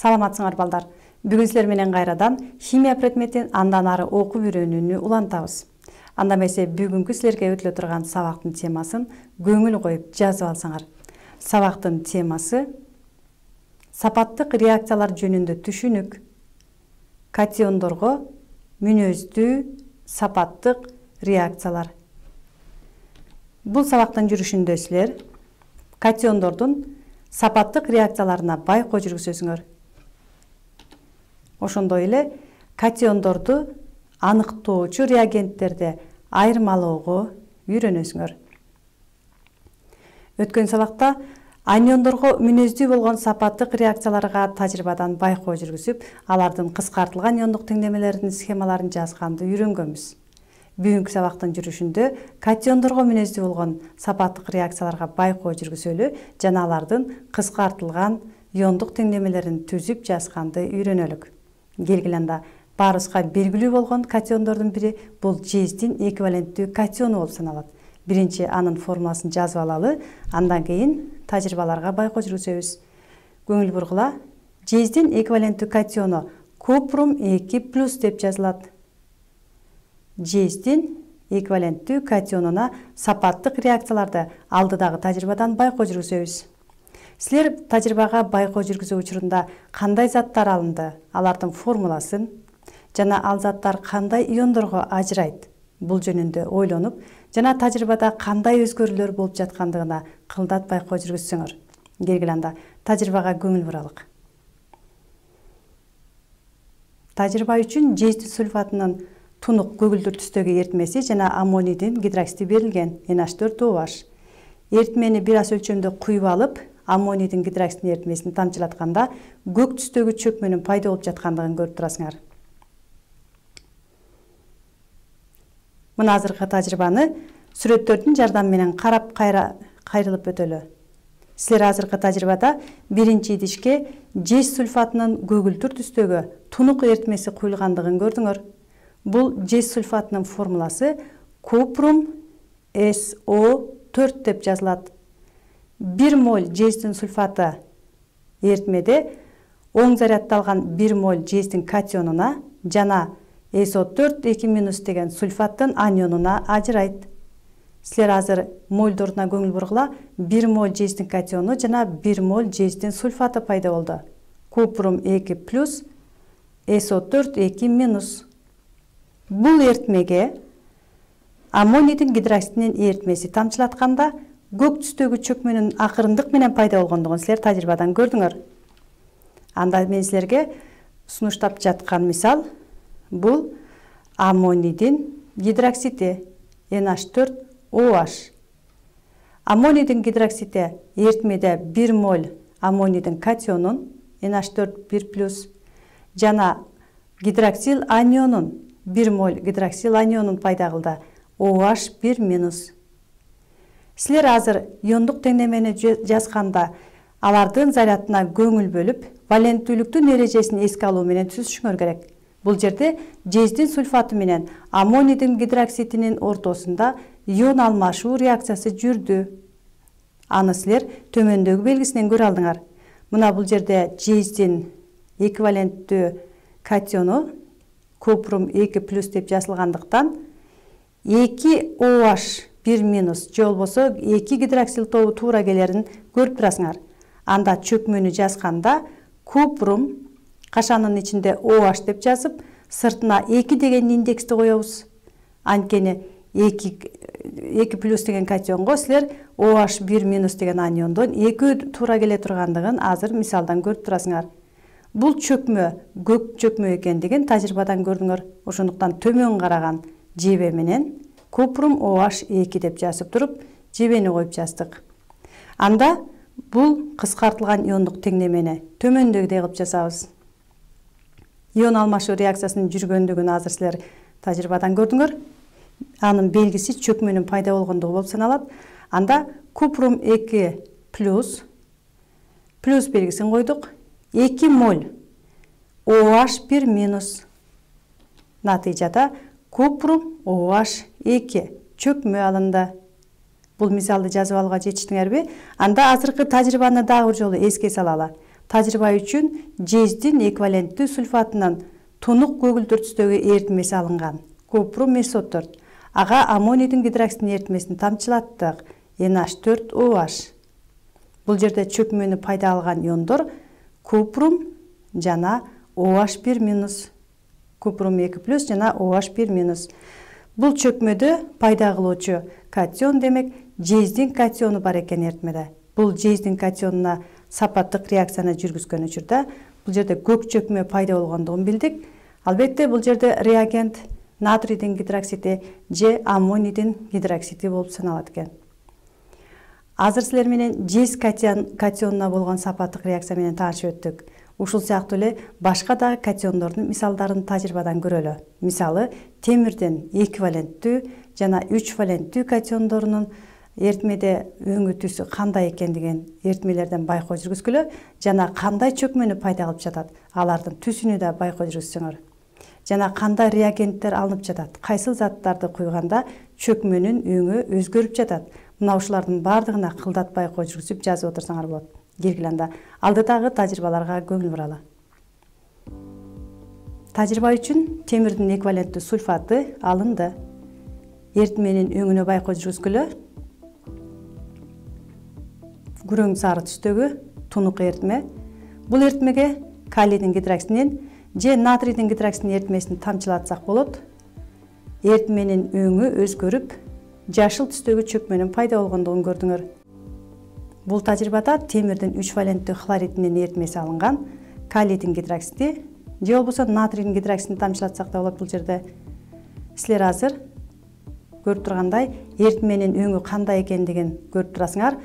Саламатсыңар балдар. Бүгүн силер менен кайрадан химия предметин андан ары окуп үйрөнүүнү улантабыз. Анда эмесе бүгүнкү силерге өтүлө турган сабактын темасын көңүл коюп жазып алсаңар. Сабактын темасы сапаттык реакциялар жөнүндө түшүнүк. Катиондорго мүнөздүү сапаттык реакциялар. Бул сабактын жүрүшүндө силер катиондордун сапаттык реакцияларына байкоо жүргүзөсүңөр. Ошондой эле катиондорду аныктоочу реагенттерди айырмалоого үйрөнөсүңөр. Өткөн сабакта аниондорго мүнөздүү болгон сапаттык реакцияларга тажрыйбадан байкоо жүргүзүп, алардын кыскартылган иондук теңдемелеринин схемаларын жазганды үйрөнгөнбүз. Бүгүнкү сабактын жүрүшүндө катиондорго мүнөздүү болгон сапаттык реакцияларга байкоо жүргүзөлү жана алардын кыскартылган иондук теңдемелерин түзүп жазганды үйрөнөлүк. Келгиле анда баарыбызга белгилүү болгон катиондордун бири бул жездин эквиваленттүү катиону болуп саналат. Биринчи анын формуласын жазып алалы, андан кийин тажрыйбаларга байкоо жүргүзөбүз. Көңүл бургула. Жездин эквиваленттүү катиону купрум 2+ деп жазылат. Жездин эквиваленттүү катионуна сапаттык реакцияларды алдыдагы тажрыйбадан байкоо жүргүзөбүз. Силер тажрыйбага байкоо жүргүзүү учурунда кандай заттар алынды, алардын формуласын жана ал заттар кандай иондорго ажырайт, бул жөнүндө ойлонуп, жана тажрыйбада кандай өзгөрүүлөр болуп жаткандыгына кылдат байкоо жүргүзсөңөр. Келгиле анда тажрыйбага көңүл буралык. Тажрыйба үчүн жезди сульфатынын тунук көгүлдүр түстөгү эритмеси жана аммонийдин гидроксиди берилген NH4OH. Эритмени бир аз өлчөмдө куюп алып, аммонийдин гидроксидин эритмесин тамчылатканда көк түстөгү чөкмөнүн пайда болуп жаткандыгын көрүп турасыңар. Мына азыркы тажрыйбаны сүрөттөрдүн жардамы менен карап кайрылып өтөлү. Силер азыркы тажрыйбада биринчи идишке жез сульфатынын көгүлтүр түстөгү тунук эритмеси куюлгандыгын көрдүңөр. Бул жез сульфатынын формуласы купрум SO4 деп жазылат. 1 моль жездин сульфаты эритмеде оң заряддалган 1 моль жездин катионуна жана SO4 2- деген сульфаттын анионуна ажырайт. Силер азыр мольдоруна көңүл бургула. 1 моль жездин катиону жана 1 моль жездин сульфаты пайда болду. Купрум 2+ SO4 2-. Бул эритмеге аммонийдин гидроксидинин эритмеси тамчылатканда көк түстөгү чөкмөнүн акырындык менен пайда болгондугун силер тажрыйбадан көрдүңөр. Анда мен силерге сунуштап жаткан мисал бул аммонийдин гидроксиди NH4OH. Аммонийдин гидроксиди эритмеде 1 моль аммонийдин катионун NH4 1+ жана гидроксил анионун 1 моль гидроксил анионун пайда кылды OH 1-. Силер азыр иондук теңдемени жазганда алардын зарядына көңүл бөлүп, валенттүүлүктүн эрежесин эске алуу менен түзүшүңөр керек. Бул жерде жездин сульфаты менен аммонийдин гидроксидинин ортосунда ион алмашуу реакциясы жүрдү. Аны силер төмөндөгү белгисинен көрө алдыңар. Мына бул жерде жездин эквиваленттүү катиону купрум 2+ деп жазылгандыктан 2 OH 1- же болбосо 2 гидроксил тобу туура келерин көрүп турасыңар. Анда чөкмөнү жазганда купрум кашанын ичинде OH деп жазып, сыртына 2 деген индексти коебуз. Анткени 2+ деген катионго силер OH 1- деген аниондон 2 туура келе тургандыгын азыр мисалдан көрүп турасыңар. Бул чөкмө көк чөкмө экендигин тажрыйбадан көрдүңөр. Ошондуктан төмөн караган жебе менен купрум OH 2 деп жазып туруп, жебени коюп жаздык. Анда бул кыскартылган иондук теңдемени төмөндөгүдөй кылып жазабыз. Ион алмашуу реакциясынын жүргөндүгүн азыр силер тажрыйбадан көрдүңөр. Анын белгиси чөкмөнүн пайда болгондугу болуп саналат. Анда купрум 2+ плюс белгисин койдук. 2 моль OH 1-. Натыйжада купрум OH 2 чөкмө алынды. Бул мисалды жазып алууга жетиштиңерби? Анда азыркы тажрыйбаны дагы бир жолу эске салалы. тажрыйба үчүн жездин эквиваленттүү сульфатынын тунук көгүлдөр түстөгү эритмеси алынган. Купрум SO4. Ага аммонийдин гидроксидин эритмесин тамчылаттык. NH4OH. Бул жерде чөкмөнү пайда алган иондор купрум жана OH1-. Купрум 2+ жана OH1-. Бул чөкмөдө пайда кылуучу катион, демек жездин катиону бар экен эритмеде. Бул жездин катионуна сапаттык реакцияны жүргүзгөн учурда бул жерде көк чөкмө пайда болгондугун билдик. Албетте бул жерде реагент натрийдин гидроксиди же аммонийдин гидроксиди болуп саналат экен. Азыр силер менен жез катионуна болгон сапаттык реакция менен таанышып өттүк. Ушул сыяктуу эле башка дагы катиондордун мисалдарын тажрыйбадан көрөлү. Мисалы, темирдин эквиваленттүү жана 3 валенттүү катиондорунун эритмеде өңү түсү кандай экендигин эритмелерден байкоо жүргүзгүлө жана кандай чөкмөнү пайда кылып жатат, алардын түсүнү да байкоо жүргүзсөңөр. Жана кандай реагенттер алынып жатат, кайсыл заттарды куйганда чөкмөнүн өңү өзгөрүп жатат. Мына ушулардын бардыгына кылдат байкоо жүргүзүп жазып отурсаңар болот. Келгиле анда алдыдагы тажрыйбаларга көңүл буралы. Тажрыйба үчүн темирдин эквиваленттүү сульфаты алынды. Эритменин өңүнө байкоо жүргүзгүлө. Күрөң сары түстөгү тунук эритме. Бул эритмеге калийдин гидроксидинин же натрийдин гидроксидинин эритмесин тамчылатсак болот. Эритменин өңү өзгөрүп, жашыл түстөгү чөкмөнүн пайда болгондугун көрдүңөр. Бул тажрыйбада темирдин 3 валенттүү хлоридинин эритмеси алынган. Калийдин гидроксиди же болбосо натрийдин гидроксидин тамчылатсак да болот бул жерде. Силер азыр көрүп тургандай эритменин өңү кандай экендигин көрүп турасыңар.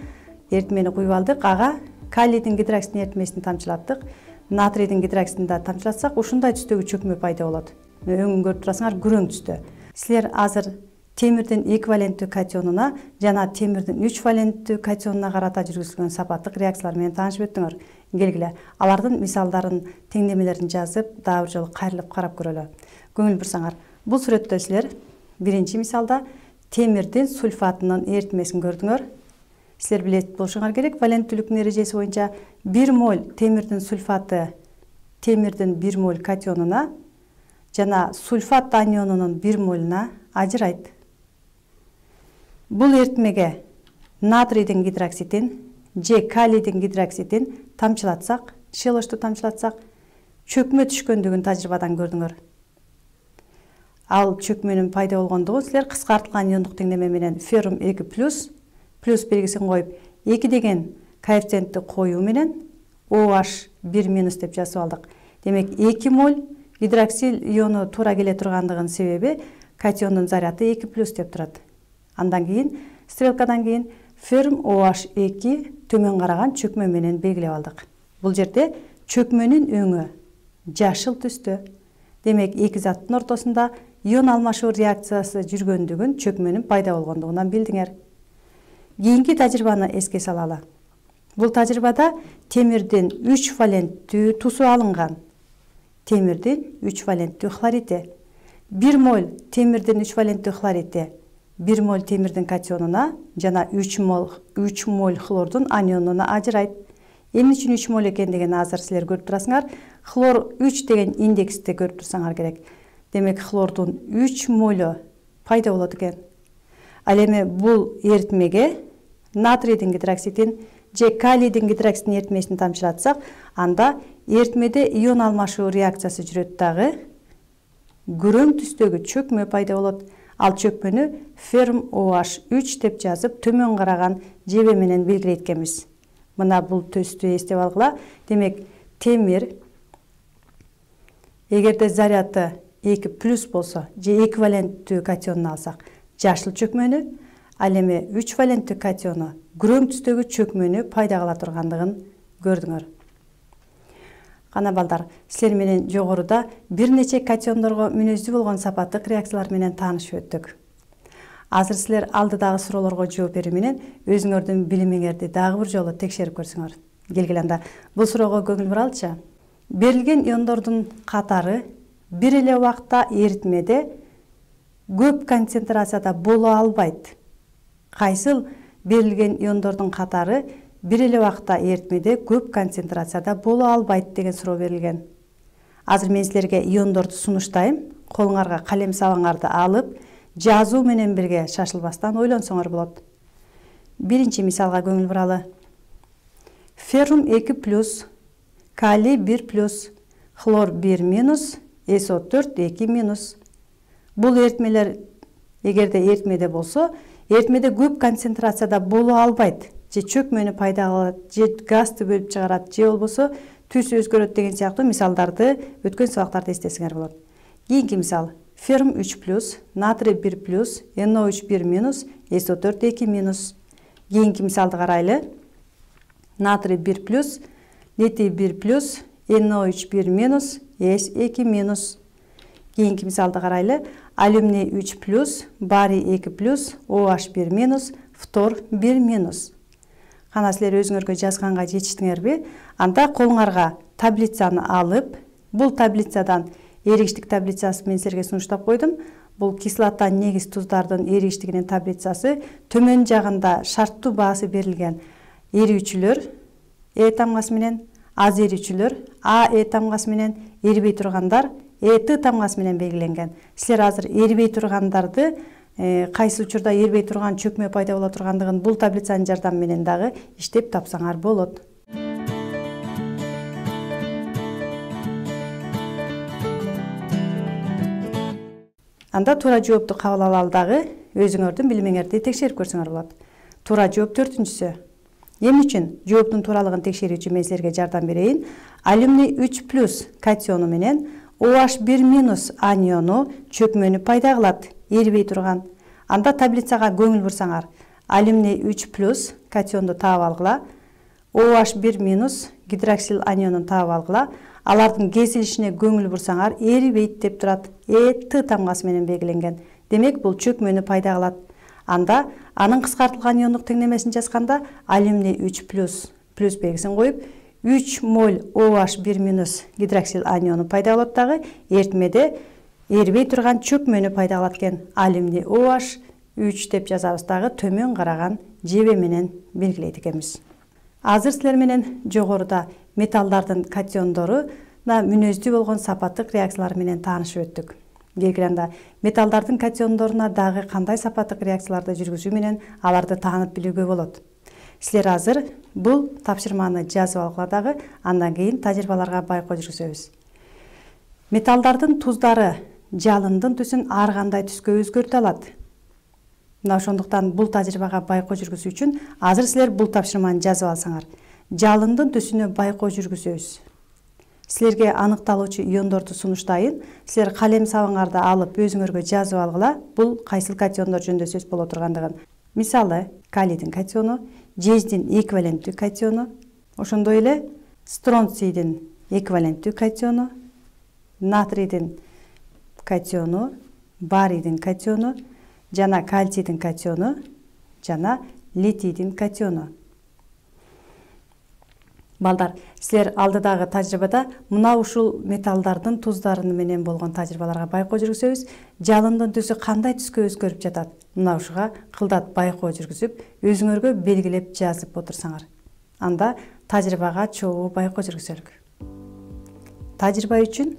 Эритмени куюп алдык, ага калийдин гидроксидинин эритмесин тамчылаттык. Натрийдин гидроксидин да тамчылатсак, ушундай түстөгү чөкмө пайда болот. Өңүн көрүп турасыңар, күрөң түстө. Силер азыр темирдин эквиваленттүү катионуна жана темирдин 3 валенттүү катионуна карата жүргүзүлгөн сапаттык реакциялар менен таанышып өттүңөр. Келгиле, алардын мисалдарын, теңдемелерин жазып, дагы бир жолу кайрылып карап көрөлү. Көңүл бурсаңар, бул сүрөттө силер биринчи мисалда темирдин сульфатынын эритмесин көрдүңөр. Силер билет болушуңар керек, валенттүүлүктүн эрежеси боюнча 1 моль темирдин сульфаты темирдин 1 моль катионуна жана сульфат анионунун 1 молуна ажырайт. Бул эритмеге натрийдин гидроксидин же калийдин гидроксидин тамчылатсак, шелошту тамчылатсак, чөкмө түшкөндүгүн тажрыйбадан көрдүңөр. Ал чөкмөнүн пайда болгондугун силер кыскартылган иондук теңдеме менен феррум 2+ плюс белгисин коюп 2 деген коэффициентти коюу менен OH1- деп жазып алдык. Демек 2 моль гидроксил иону туура келе тургандыгынын себеби катиондун заряды 2+ деп турат. Андан кийин стрелкадан кийин феррум OH2 төмөн караган чөкмө менен белгилеп алдык. Бул жерде чөкмөнүн өңү жашыл түстө. Демек эки заттын ортосунда ион алмашуу реакциясы жүргөндүгүн, чөкмөнүн пайда болгондугунан билдиңер. Кийинки тажрыйбаны эске салалы. Бул тажрыйбада темирдин 3 валенттүү тусу алынган. Темирдин 3 валенттүү хлориди. 1 моль темирдин 3 валенттүү хлориди 1 моль темирдин катионуна жана 3 моль хлордун анионуна ажырайт. Эмне үчүн 3 моль экендигин азыр силер көрүп турасыңар. Хлор 3 деген индексти көрүп турсаңар керек. Демек хлордун 3 молу пайда болот экен. Ал эми бул эритмеге натрийдин гидроксидин же калийдин гидроксидинин эритмесин тамчылатсак, анда эритмеде ион алмашуу реакциясы жүрөт дагы. Күрөң түстөгү чөкмө пайда болот. Ал чөкмөнү феррум OH3 деп жазып, төмөн караган жебе менен белгилейткенбиз. Мына бул төстү эстеп алгыла. Демек темир эгерде заряды 2+ болсо же эквиваленттүү катионуну алсак, жашыл чөкмөнү, ал эми 3 валенттүү катиону күрөң түстөгү чөкмөнү пайда кыла тургандыгын көрдүңөр. Кана балдар, силер менен жогоруда бир нече катиондорго мүнөздүү болгон сапаттык реакциялар менен таанышып өттүк. Азыр силер алдыдагы суроолорго жооп берүү менен өзүңөрдүн билимиңерди дагы бир жолу текшерип көрсөңөр. Келгиле анда бул суроого көңүл буралычы. Берилген иондордун катары бир эле убакта эритмеде көп концентрацияда боло албайт. Кайсыл берилген иондордун катары бир эле убакта эритмеде көп концентрацияда боло албайт деген суроо берилген. Азыр мен силерге иондорду сунуштайм. Колуңарга калем сабаңарды алып, жазуу менен бирге шашылбастан ойлонсоңор болот. Биринчи мисалга көңүл буралы. Феррум 2+, калий 1+, хлор 1-, SO4 2-. Бул эритмелер эгерде эритмеде болсо, эритмеде көп концентрацияда боло албайт, же чөкмөнү пайда кылат, же газды бөлүп чыгарат, же болбосо түсү өзгөрөт деген сыяктуу мисалдарды өткөн сабактарда эстесиңер болот. Кийинки мисал. Феррум 3+, натрий 1+, NO3 1-, SO4 2-. Кийинки мисалды карайлы. Натрий 1+, литий 1+, NO3 1-, S 2-. Кийинки мисалды карайлы. Алюминий 3+, барий 2+, OH 1-, фтор 1-. Кана силер өзүңөргө жазганга жетиштиңерби? Анда колуңарга таблицаны алып, бул таблицадан эригиштик таблицасы мен силерге сунуштап койдум. Бул кислота негиз туздардын эригиштигинин таблицасы. Төмөн жагында шарттуу баасы берилген эрүүчүлөр Е тамгасы менен, аз эрүүчүлөр АЭ тамгасы менен, эрибей тургандар ЭТ тамгасы менен белгиленген. Силер азыр эрибей тургандарды кайсы учурда эрибей турган чөкмө пайда боло тургандыгын бул таблицанын жардамы менен дагы иштеп тапсаңар болот. Анда туура жоопту кабыл алалы дагы өзүңөрдүн билимиңерди текшерип көрсөңөр болот. Туура жооп 4-үнчүсү. Эмне үчүн жооптун тууралыгын текшерүү үчүн мен силерге жардам берейин. Алюминий 3+ катиону менен OH 1- аниону чөкмөнү пайда кылат, эрибей турган. Анда таблицага көңүл бурсаңар, алюминий 3+ катионду таап алгыла, OH 1- гидроксил анионун таап алгыла. Алардын кесилишине көңүл бурсаңар, эрибейт деп турат, ЭТ тамгасы менен белгиленген. Демек, бул чөкмөнү пайда кылат. Анда анын кыскартылган иондук теңдемесин жазганда алюминий 3+ плюс белгисин коюп, 3 моль OH 1- гидроксил аниону пайда болот дагы, эритмеде эрибей турган чөкмөнү пайда кылат экен. Алюминий OH 3 деп жазабыз дагы, төмөн караган жебе менен белгилейт экенбиз. Азыр силер менен жогоруда металлдардын катиондоруна мүнөздүү болгон сапаттык реакциялар менен таанышып өттүк. Келгенде металлдардын катиондоруна дагы кандай сапаттык реакцияларды жүргүзүү менен аларды таанып билүүгө болот. Силер азыр бул тапшырманы жазып алгыла дагы, андан кийин тажрыйбаларга байкоо жүргүзөбүз. Металлдардын туздары жалындын түсүн ар кандай түскө өзгөртө алат. Мына ошондуктан бул тажрыйбага байкоо жүргүзүү үчүн азыр силер бул тапшырманы жазып алсаңар, жалындын түсүнө байкоо жүргүзөбүз. Силерге аныкталуучу иондорду сунуштайын. Силер калем сабаңарды алып өзүңөргө жазып алгыла, бул кайсыл катиондор жөнүндө сөз боло тургандыгын. Мисалы, калийдин катиону, жездин эквиваленттүү катиону, ошондой эле стронцийдин эквиваленттүү катиону, натрийдин катиону, барийдин катиону, жана кальцийдин катиону, жана литийдин катиону. Балдар, силер алдыдагы тажрыйбада мына ушул металлдардын туздарын менен болгон тажрыйбаларга байкоо жүргүзөбүз. Жалындын түсү кандай түскө өзгөрүп жатат? Мына ушуга кылдат байкоо жүргүзүп, өзүңөргө белгилеп жазып отурсаңар. Анда тажрыйбага чогуу байкоо жүргүзөлүк. Тажрыйба үчүн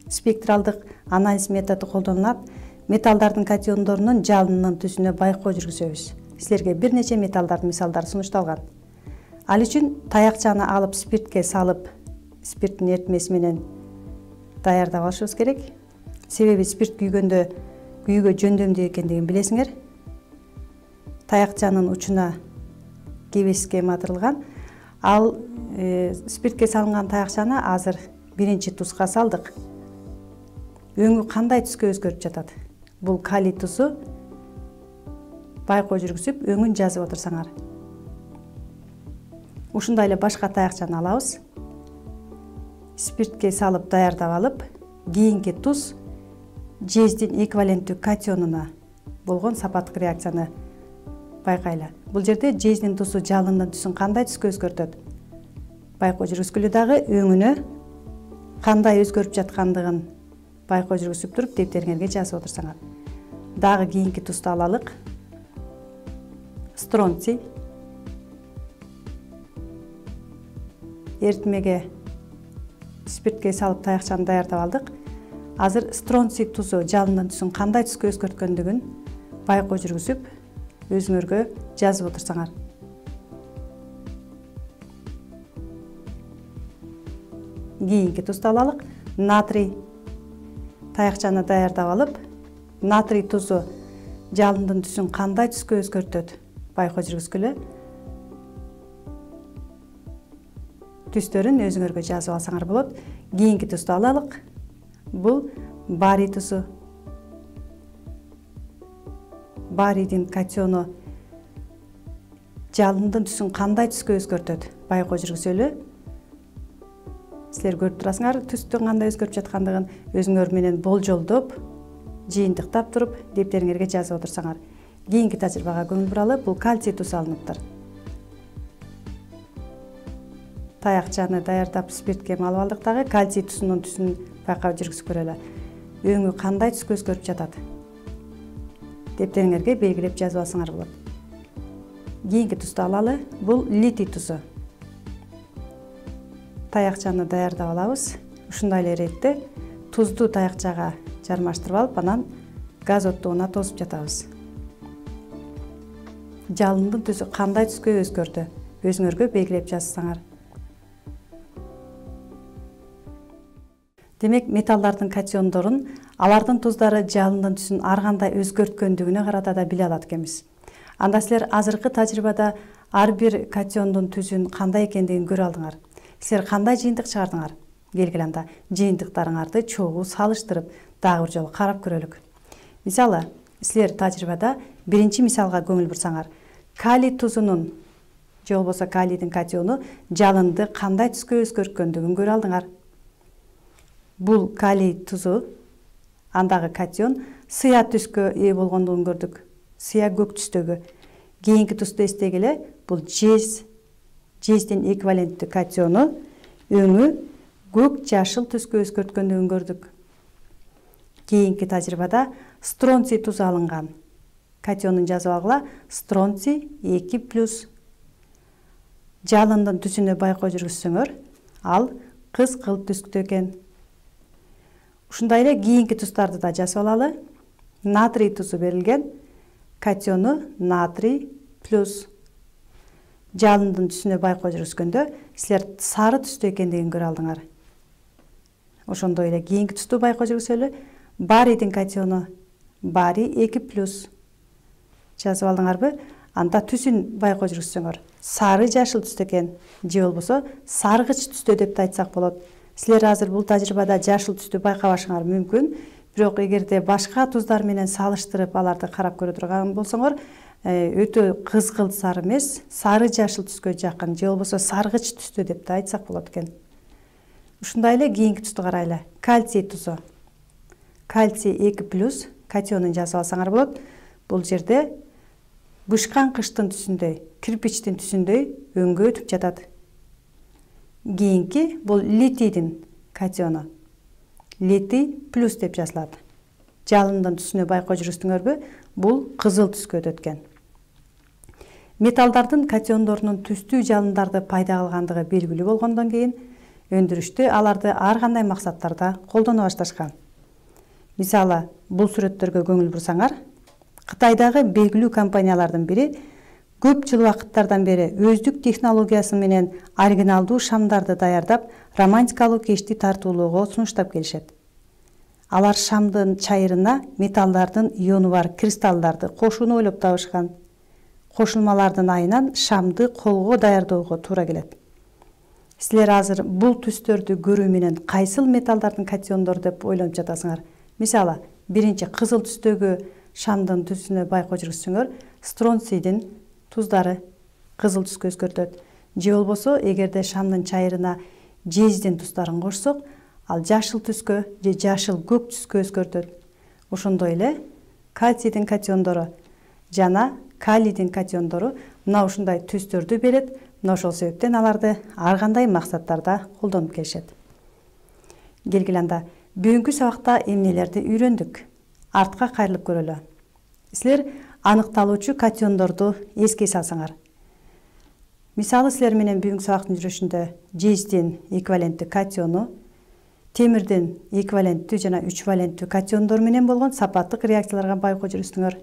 спектралдык анализ методу колдонулат. Металлдардын катиондорунун жалынынын түсүнө байкоо жүргүзөбүз. Силерге бир нече металлдардын мисалдары сунушталган. Ал үчүн таякчаны алып спиртке салып, спирттин эритмеси менен даярдап алышыбыз керек. Себеби спирт күйгөндө күйүүгө жөндөмдүү экендигин билесиңер. Таякчанын учуна кебес схема атырылган. Ал спиртке салынган таякчаны азыр биринчи тузга салдык. Өңү кандай түскө өзгөрүп жатат? Бул калий тузу. Байкоо жүргүзүп, өңүн жазып отурсаңар. Ушундай эле башка таякчаны алабыз. Спиртке салып даярдап алып, кийинки туз жездин эквиваленттүү катионуна болгон сапаттык реакцияны байкайлы. Бул жерде жездин тузу жалындын түсүн кандай түскө өзгөртөт? Байкоо жүргүзгүлө дагы өңүнө кандай өзгөрүп жаткандыгын байкоо жүргүзүп туруп дептериңерге жазып отурсаңар. Дагы кийинки тузду алалык. Стронций. эритмеге спиртке салып таякчаны даярдап алдык. Азыр стронций тузу жалындын түсүн кандай түскө өзгөрткөндүгүн байкоо жүргүзүп, өзүңөргө жазып отурсаңар. Кийинки тузду алалык. Натрий таякчаны даярдап алып, натрий тузу жалындын түсүн кандай түскө өзгөртөт байкоо жүргүзгүлө. Түстөрүн өзүңөргө жазып алсаңар болот. Кийинки тузду алалык. Бул барий тузу. Барийдин катиону жалындын түсүн кандай түскө өзгөртөт байкоо жүргүзөлү. Силер көрүп турасыңар түстүн кандай өзгөрүп жаткандыгын, өзүңөр менен болжолдоп, жыйынтыктап туруп, дептериңерге жазып отурсаңар. Кийинки тажрыйбага көңүл буралы. Бул кальций тузу алыныптыр. Таякчаны даярдап спиртке малып алдык дагы. Кальций тузунун түсүн байкап жүргүзүп көрөлү. Өңү кандай түскө өзгөрүп жатат? Дептериңерге белгилеп жазып алсаңар болот. Кийинки тузду алалы. Бул литий тузу. Таякчаны даярдап алабыз. Ушундай эле иретте тузду таякчага жармаштырып алып, анан газ оттугуна тосуп жатабыз. Жалындын түсү кандай түскө өзгөрдү? Өзүңөргө белгилеп жазсаңар. Демек, металлдардын катиондорун, алардын туздары жалындын түсүн ар кандай өзгөрткөндүгүнө карата да биле алат экенбиз. Анда силер азыркы тажрыйбада ар бир катиондун түсүн кандай экендигин көрө алдыңар. Силер кандай жыйынтык чыгардыңар? Келгиле анда жыйынтыктарыңарды чогуу салыштырып, дагы бир жолу карап көрөлүк. Мисалы, силер тажрыйбада биринчи мисалга көңүл бурсаңар, калий тузунун же болбосо калийдин катиону жалынды кандай түскө өзгөрткөндүгүн көрө алдыңар. Бул калий тузу, андагы катион сыя түскө ээ болгондугун көрдүк. Сыя көк түстөгү. Кийинки тузду эстегиле, бул жездин эквиваленттүү катиону өңү көк жашыл түскө өзгөрткөндүгүн көрдүк. Кийинки тажрыйбада стронций тузу алынган. Катионун жазып алгыла. Стронций 2+. Жалындын түсүнө байкоо жүргүзсөңөр, ал кызгыл түстө экен. Ушундай эле кийинки туздарды да жазып алалы. Натрий тузу берилген. Катиону натрий+. Жалындын түсүнө байкоо жүргүзгөндө силер сары түстө экендигин көрө алдыңар. Ошондой эле кийинки тузду байкоо жүргүзөлү. Барийдин катиону барий 2+. Жазып алдыңарбы? Анда түсүн байкоо жүргүзсөңөр, сары жашыл түстө экен, же болбосо саргыч түстө деп да айтсак болот. Силер азыр бул тажрыйбада жашыл түстү байкабашыңар мүмкүн, бирок эгерде башка туздар менен салыштырып аларды карап көрө турган болсоңор, өтө кызгыл сары эмес, сары жашыл түскө жакын, же болбосо саргыч түстө деп да айтсак болот экен. Ушундай эле кийинки тузду карайлы. Кальций тузу. Кальций 2+, катионун жазып алсаңар болот. Бул жерде бышкан кыштын түсүндөй, кирпичтин түсүндөй өңгө өтүп жатат. Кийинки бул литийдин катиону. Литий плюс деп жазылат. Жалындын түсүнө байкоо жүргүздүңөрбү? Бул кызыл түскө өтөт экен. Металлдардын катиондорунун түстүү жалындарды пайда кылгандыгы белгилүү болгондон кийин өндүрүштө аларды ар кандай максаттарда колдоно башташкан. Мисалы, бул сүрөттөргө көңүл бурсаңар, Кытайдагы белгилүү компаниялардын бири көп жыл убакыттардан бери өздүк технологиясы менен оригиналдуу шамдарды даярдап, романтикалуу кечти тартуулоого сунуштап келишет. Алар шамдын чайырына металлдардын иону бар кристаллдарды кошууну ойлоп табышкан. Кошулмалардын айынан шамды колго даярдоого туура келет. Силер азыр бул түстөрдү көрүү менен кайсыл металлдардын катиондору деп ойлонуп жатасыңар? Мисалы, биринчи кызыл түстөгү шамдын түсүнө байкоо жүргүзсөңөр, стронцийдин туздары кызыл түскө өзгөртөт. Же болбосо, эгерде шамдын чайырына жездин туздарын кошсок, ал жашыл түскө же жашыл көк түскө өзгөртөт. Ошондой эле кальцийдин катиондору жана калийдин катиондору мына ушундай түстөрдү берет. Мына ошол себептен аларды ар кандай максаттарда колдонуп келишет. Келгиле анда бүгүнкү сабакта эмнелерди үйрөндүк? Артка кайрылып көрөлү. Силер аныкталуучу катиондорду эске салсаңар. Мисалы силер менен бүгүнкү сабактын жүрүшүндө жездин эквиваленттүү катиону, темирдин эквиваленттүү жана 3 валенттүү катиондор менен болгон сапаттык реакцияларга байкоо жүргүзсүңөр.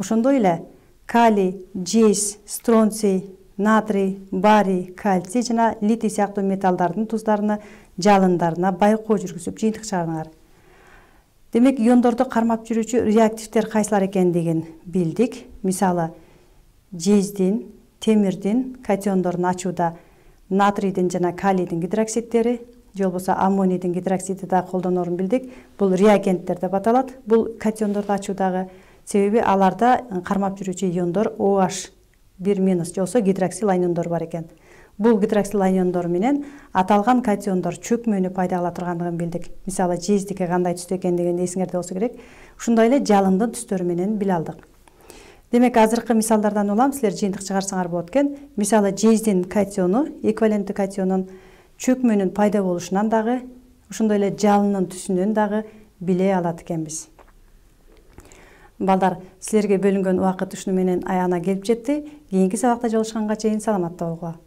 Ошондой эле калий, жез, стронций, натрий, барий, кальций жана литий сыяктуу металлдардын туздарына, жалындарына байкоо жүргүзүп жыйынтык чыгардыңар. Демек, иондорду кармап жүрүүчү реактивдер кайсылар экендигин билдик. Мисалы, жездин, темирдин катиондорун ачууда натрийдин жана калийдин гидроксидтери, же болбосо аммонийдин гидроксиди да колдонорун билдик. Бул реагенттер деп аталат. Бул катиондорду ачуудагы себеби аларда кармап жүрүүчү иондор OH 1- же болбосо гидроксил аниондор бар экен. Бул гидроксил аниондор менен аталган катиондор чөкмөнү пайда кыла тургандыгын билдик. Мисалы, жездики кандай түстө экендигин эсиңерде болсо керек. Ошондой эле жалындын түстөрү менен биле алдык. Демек, азыркы мисалдардан улам силер жыйынтык чыгарсаңар болот экен. Мисалы, жездин катиону, эквиваленттүү катионун чөкмөнүн пайда болушунан дагы, ошондой эле жалынын түсүнөн дагы биле алат экенбиз. Балдар, силерге бөлүнгөн убакыт ушуну менен аягына келип жетти. Кийинки сабакта жолугушканга чейин саламатта болгула.